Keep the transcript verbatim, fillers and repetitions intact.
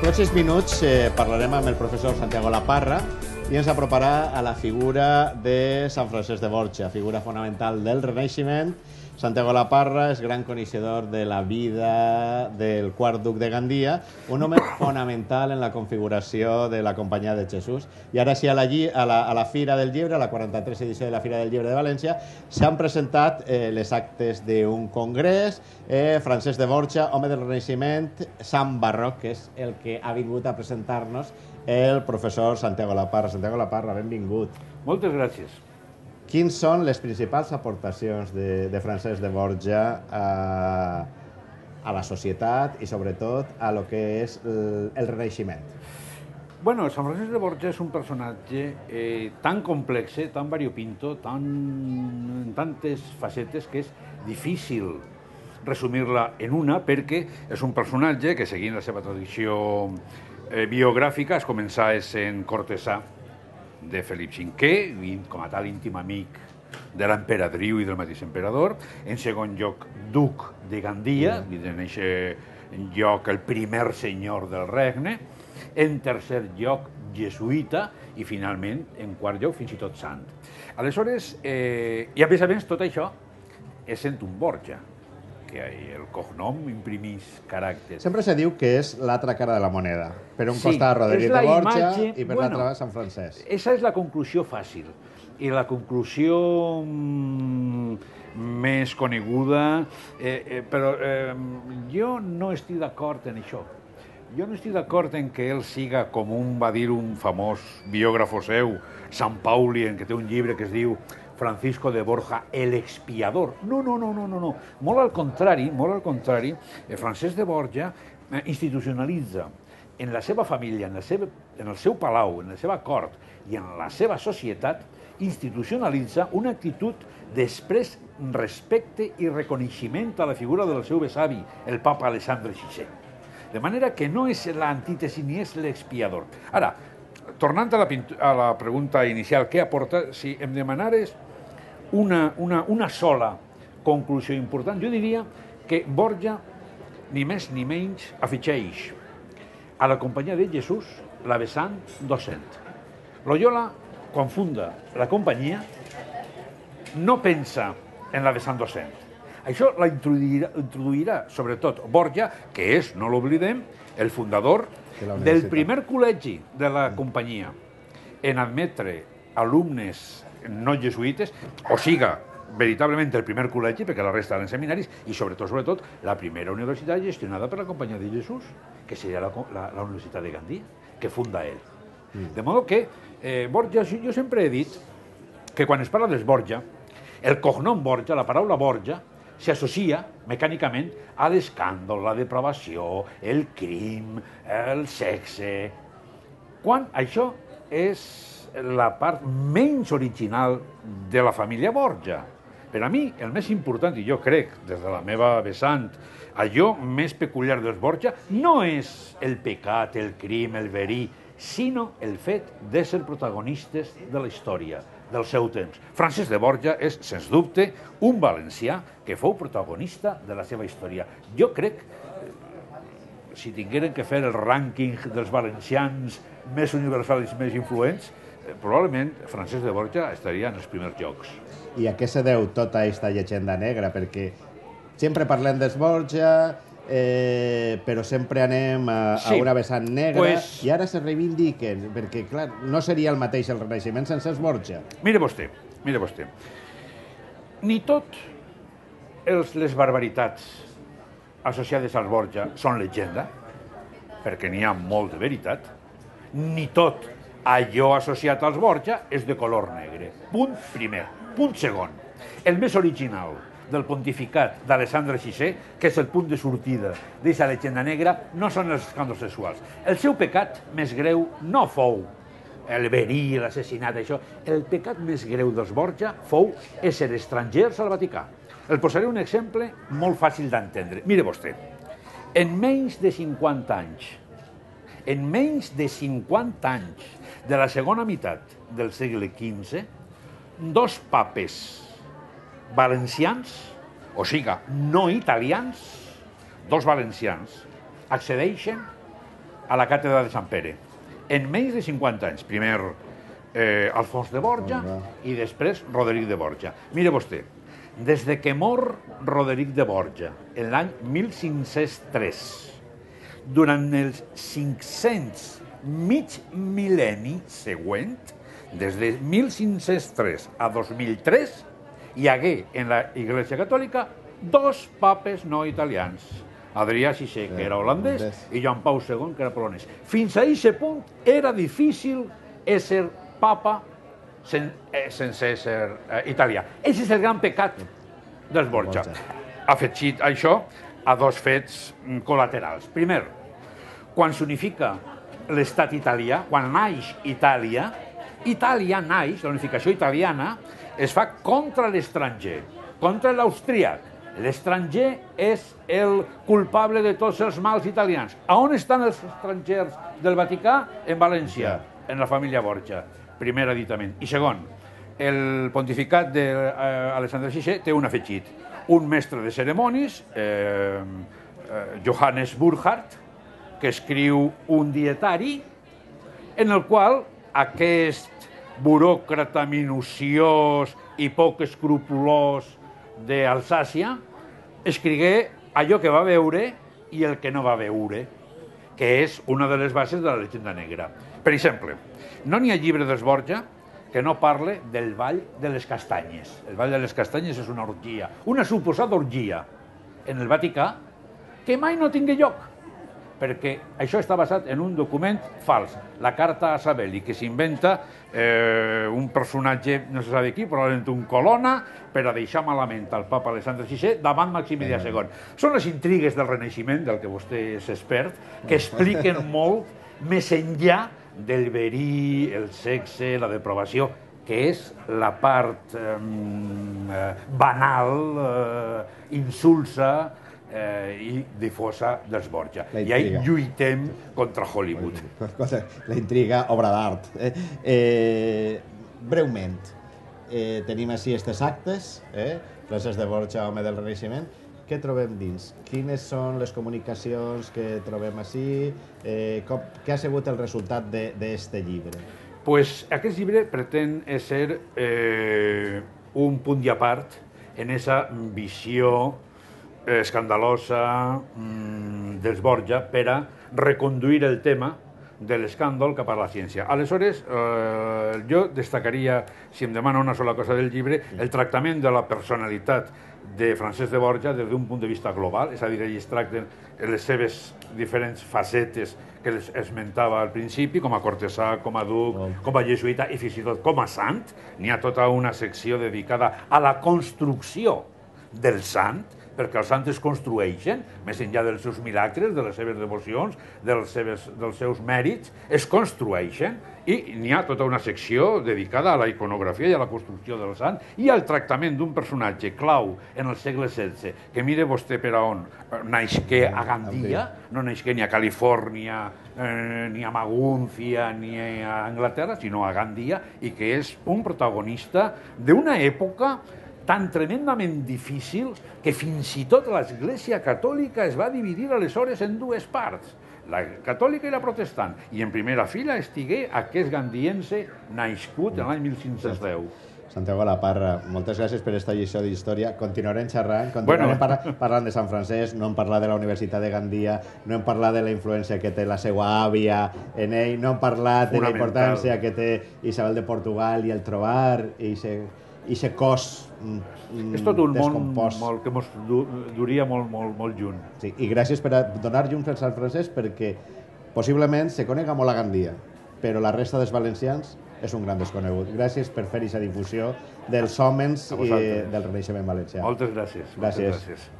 pròxims minuts eh, parlarem amb el professor Santiago Laparra i ens aproparà a la figura de Sant Francesc de Borja, figura fonamental del Renaixement. Santiago Laparra és gran coneixedor de la vida del quart duc de Gandia, un home fonamental en la configuració de la Companyia de Jesús. I ara sí, a la, a la, a la Fira del Llibre, a la quaranta-tres edició de la Fira del Llibre de València, s'han presentat eh, les actes d'un congrés, eh, Francesc de Borja, home del Renaixement, Sant Barroc, que és el que ha vingut a presentar-nos el professor Santiago Laparra. Santiago Laparra, benvingut. Moltes gràcies. Quins són les principals aportacions de, de Francesc de Borja a, a la societat i, sobretot, a lo que és el, el Renaixement? Bueno, Sant Francesc de Borja és un personatge eh, tan complex, tan variopinto, tan, en tantes facetes, que és difícil resumir-la en una, perquè és un personatge que, seguint la seva tradició eh, biogràfica, es començà sent cortesà de Felip cinquè, com a tal íntim amic de l'emperadriu i del mateix emperador. En segon lloc, duc de Gandia, i en aquest lloc el primer senyor del regne. En tercer lloc, jesuïta, i finalment, en quart lloc, fins i tot sant. Aleshores, eh, i a més a més, tot això és sent un Borja, que el cognom imprimís caràcter. Sempre se diu que és l'altra cara de la moneda. Per un sí, costat Roderic de Borja imatge, i per bueno, l'altre Sant Francesc. Esa és la conclusió fàcil. I la conclusió mm, més coneguda, eh, eh, però eh, jo no estic d'acord en això. Jo no estic d'acord en que ell siga, com un va dir un famós biògrafo seu, Sant Pauli, en què té un llibre que es diu Francisco de Borja, el expiador. No, no, no, no, no, no. Molt al contrari, molt al contrari, Francesc de Borja institucionalitza en la seva família, en el seu, en el seu palau, en la seva cort i en la seva societat, institucionalitza una actitud després respecte i reconeixement a la figura del seu besavi, el papa Alessandre sisè. De manera que no és l'antítesi ni és l'expiador. Ara, tornant a la, a la pregunta inicial, què aporta? Si em demanares una, una, una sola conclusió important, jo diria que Borja, ni més ni menys, afegeix a la Companyia de Jesús la vessant docent. Loyola, quan funda la companyia, no pensa en la vessant docent. Això la introduirà, introduirà sobretot Borja, que és, no l'oblidem, el fundador del primer col·legi de la companyia en admetre alumnes no jesuïtes, o siga, veritablement el primer col·legi, perquè la resta eren seminaris, i sobretot, sobretot, la primera universitat gestionada per la Companyia de Jesús, que seria la, la, la Universitat de Gandia, que funda ell. Mm. De modo que eh, Borja, jo sempre he dit que quan es parla dels Borja, el cognom Borja, la paraula Borja, s'associa mecànicament a l'escàndol, la depravació, el crim, el sexe, quan això és la part menys original de la família Borja. Per a mi, el més important, i jo crec, des de la meva vessant, allò més peculiar dels Borja no és el pecat, el crim, el verí, sinó el fet d'ésser protagonistes de la història, del seu temps. Francesc de Borja és, sens dubte, un valencià que fou protagonista de la seva història. Jo crec, si tingueren que fer el rànquing dels valencians més universals i més influents, probablement Francesc de Borja estaria en els primers llocs. I a què se deu tota aquesta llegenda negra? Perquè sempre parlem dels Borja, eh, però sempre anem a, sí, a una vessant negra, pues, i ara se reivindiquen, perquè, clar, no seria el mateix el Renaixement sense els Borja. Mire vostè, mire vostè. Ni tot els, les barbaritats associades als Borja són llegenda, perquè n'hi ha molt de veritat, ni tot allò associat als Borja és de color negre. Punt primer. Punt segon. El més original del pontificat d'Alessandre sisè, que és el punt de sortida d'aquesta llegenda negra, no són els escàndols sexuals. El seu pecat més greu no fou el verí, l'assassinat, això. El pecat més greu dels Borja fou ésser estrangers al Vaticà. El posaré un exemple molt fàcil d'entendre. Mire vostè, en menys de cinquanta anys, en menys de cinquanta anys de la segona meitat del segle quinze, dos papes valencians, o siga, no italians, dos valencians, accedeixen a la càtedra de Sant Pere. En menys de cinquanta anys. Primer eh, Alfons de Borja i després Roderic de Borja. Mire vostè, des de que mor Roderic de Borja, en l'any mil cinc-cents tres, durant els cinc-cents mig mil·lenni següent, des de mil cinc-cents tres a dos mil tres, hi hagué en la Iglesia Catòlica dos papes no italians. Adrià sisè, que era holandès, i Joan Pau segon, que era polonès. Fins a aquest punt era difícil ésser papa sen, eh, sense ser eh, italià. Aquest és el gran pecat dels Borja. Afegit això a dos fets col·laterals. Primer, quan s'unifica l'estat italià, quan naix Itàlia, Itàlia naix, la unificació italiana, es fa contra l'estranger, contra l'austríac. L'estranger és el culpable de tots els mals italians. A on estan els estrangers del Vaticà? En València, en la família Borja. Primer aditament. I segon, el pontificat d'Alexandre sisè té un afegit. Un mestre de ceremonis, eh, eh, Johannes Burckhardt, que escriu un dietari en el qual aquest buròcrata minuciós i poc escrupulós d'Alsàcia escrigué allò que va veure i el que no va veure, que és una de les bases de la llegenda negra. Per exemple, no n'hi ha llibre dels Borja que no parle del Ball de les Castanyes. El Ball de les Castanyes és una orgia, una suposada orgia en el Vaticà que mai no tingué lloc, perquè això està basat en un document fals, la carta a Savelli, que s'inventa eh, un personatge, no se sap qui, probablement un colonna, per a deixar malament al papa Alexandre sisè davant Maximilià segon. Són les intrigues del Renaixement, del que vostè és expert, que expliquen molt més enllà del verí, el sexe, la depravació, que és la part eh, banal, eh, insulsa, Eh, i difosa dels Borja. I ahí lluitem contra Hollywood. La intriga, obra d'art. Eh, eh, breument, eh, tenim així aquests actes, eh? Francesc de Borja, home del Renaixement. Què trobem dins? Quines són les comunicacions que trobem així? Eh, com, què ha sigut el resultat d'aquest llibre? Pues aquest llibre pretén ser eh, un punt i a part en aquesta visió escandalosa mmm, dels Borja per a reconduir el tema de l'escàndol cap a la ciència. Aleshores, eh, jo destacaria, si em demana una sola cosa del llibre, el tractament de la personalitat de Francesc de Borja des d'un punt de vista global, és a dir, ell es tracten les seves diferents facetes que les esmentava al principi, com a cortesà, com a duc, com a jesuïta i fins i tot com a sant. N'hi ha tota una secció dedicada a la construcció del sant, perquè els sants es construeixen, més enllà dels seus milagres, de les seves devocions, dels, seves, dels seus mèrits, es construeixen, i n'hi ha tota una secció dedicada a la iconografia i a la construcció del sant i al tractament d'un personatge clau en el segle setze, que mire vostè per a on naixqué a Gandia, no naixqué ni a Califòrnia, eh, ni a Magúncia, ni a Anglaterra, sinó a Gandia, i que és un protagonista d'una època tan tremendament difícil que fins i tot l'Església Catòlica es va dividir aleshores en dues parts, la catòlica i la protestant, i en primera fila estigué aquest gandiense nascut en l'any mil cinc-cents deu. Santiago Laparra, moltes gràcies per aquesta lliçó d'història. Continuarem xerrant, continuarem bueno. parla, parlant de Sant Francesc, no hem parlat de la Universitat de Gandia, no hem parlat de la influència que té la seva àvia en ell, no hem parlat de la importància que té Isabel de Portugal i el trobar i se... i aquest cos mm, és tot un món molt, que ens duria molt, molt, molt junt. Sí, i gràcies per donar llum al Sant Francesc, perquè possiblement se conega molt a Gandia, però la resta dels valencians és un gran desconegut. Gràcies per fer aquesta difusió dels hòmens i del Renaixement valencià. Moltes gràcies. Gràcies. Moltes gràcies.